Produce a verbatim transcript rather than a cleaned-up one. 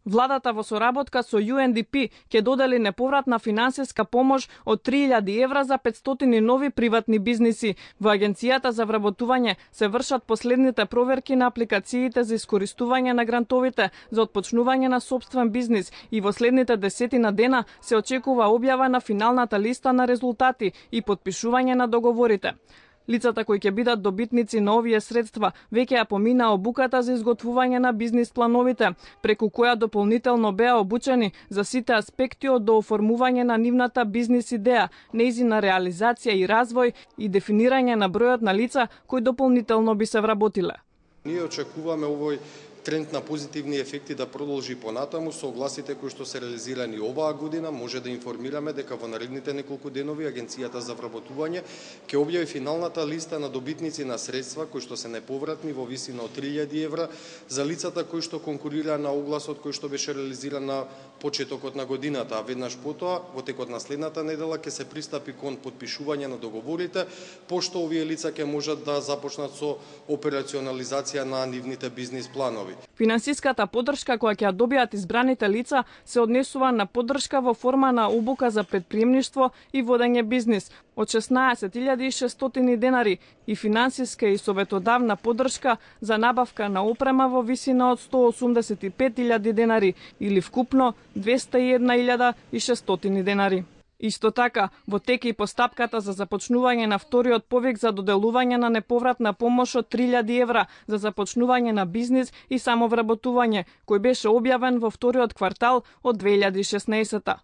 Владата во соработка со Ю Ен Ди Пи ќе додели неповратна финансиска помош од три илјади евра за петстотини нови приватни бизниси. Во Агенцијата за вработување се вршат последните проверки на апликациите за искористување на грантовите за отпочнување на сопствен бизнис и во следните десетина дена се очекува објава на финалната листа на резултати и подпишување на договорите. Лицата кои ќе бидат добитници на овие средства веќе ја помина обуката за изготвување на бизнис плановите, преку која дополнително беа обучени за сите аспекти од дооформување на нивната бизнис идеја, нејзина реализација и развој и дефинирање на бројот на лица кои дополнително би се вработиле. Ние очекуваме овој тренд на позитивни ефекти да продолжи понатаму со огласите кои што се реализирани оваа година. Може да информираме дека во наредните неколку денови Агенцијата за вработување ќе објави финалната листа на добитници на средства кои што се неповратни во висина од три илјади евра за лицата кои што конкурира на огласот кој што беше реализиран на почетокот на годината, а веднаш потоа во текот на следната недела ќе се пристапи кон подпишување на договорите, пошто овие лица ќе можат да започнат со операционализација на нивните бизнис планови. Финансиската поддршка која ќе ја добијат избраните лица се однесува на поддршка во форма на обука за претприемништво и водење бизнис од шеснаесет илјади и шестстотини денари и финансиска и советодавна поддршка за набавка на опрема во висина од сто осумдесет и пет илјади денари или вкупно двеста и една илјада и шестстотини денари. Исто така, во тек и постапката за започнување на вториот повик за доделување на неповратна помош од три илјади евра за започнување на бизнис и самовработување, кој беше објавен во вториот квартал од две илјади и шеснаесетта.